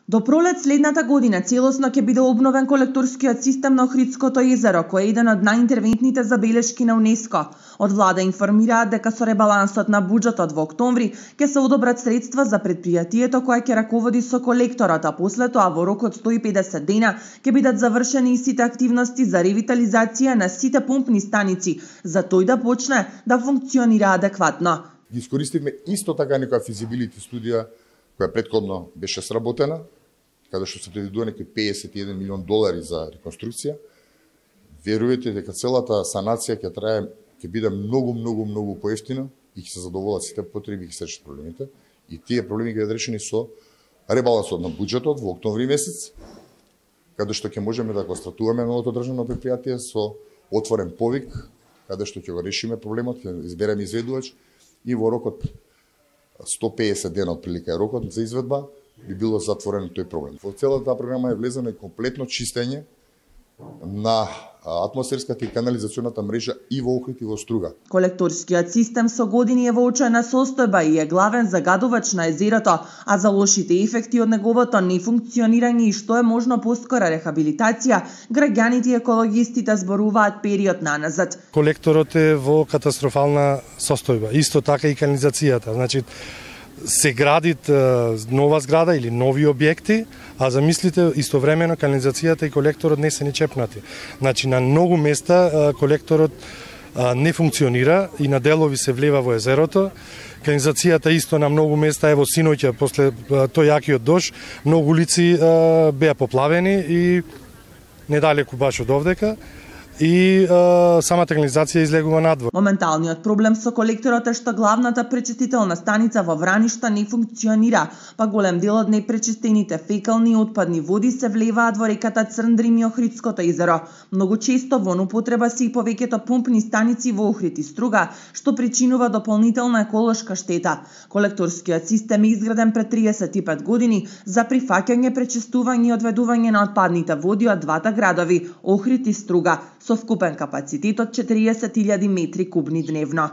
До пролет следната година целосно ќе биде обновен колекторскиот систем на Охридското езеро, кој е еден од најинтервентните забелешки на УНЕСКО. Од влада информираат дека со ребалансот на буџетот во октомври ќе се одобрат средства за предпријатието кое ќе раководи со колекторот, а после тоа во рок од 150 дена ќе бидат завршени и сите активности за ревитализација на сите помпни станици, за тој да почне да функционира адекватно. Ги искористивме исто така некоја физибилити студија која претходно беше сработена, каде што се предвидува некои $51 милион за реконструкција. Верувате дека целата санација ќе биде многу поевтина и ќе се задоволат сите потреби и ќе се решат проблемите. И тие проблеми ќе бидат решени со ребалансот на буџетот во октомври месец, каде што ќе можеме да го стартуваме новото државно предпријатие со отворен повик, каде што ќе го решиме проблемот, ќе избереме изведувач и во рок од 150 дена од прилика е рокот за изведба, би било затворен тој проблем. Во целата таа програма е влезено и комплетно чистење на атмосферската и канализационата мрежа и во Охрид и во Струга. Колекторскиот систем со години е во очајна состојба и е главен загадувач на езерото, а за лошите ефекти од неговото нефункционирање и што е можно поскора рехабилитација, граѓаните и екологистите зборуваат период наназад. Колекторот е во катастрофална состојба, исто така и канализацијата. Значи, се градит нова зграда или нови објекти, а замислите истовремено канализацијата и колекторот не се ни чепнати. Значи на многу места колекторот не функционира и на делови се влева во езерото. Канализацијата исто на многу места, ево синоќа после тој јакиот дожд, многу улици беа поплавени и недалеку баш од овдека. И самата канализација излегува надвор. Моменталниот проблем со колекторот е што главната пречистителна станица во Враништа не функционира, па голем дел од непречистените фекални и отпадни води се влеваат во реката Црндрим и Охридското езеро. Многу често во употреба се и повеќето помпни станици во Охрид и Струга, што причинува дополнителна еколошка штета. Колекторскиот систем е изграден пред 35 години за прифаќање, пречистување и одведување на отпадните води од двата градови, Охрид и Струга, со вкупен капацитет од 40.000 метри кубни дневно.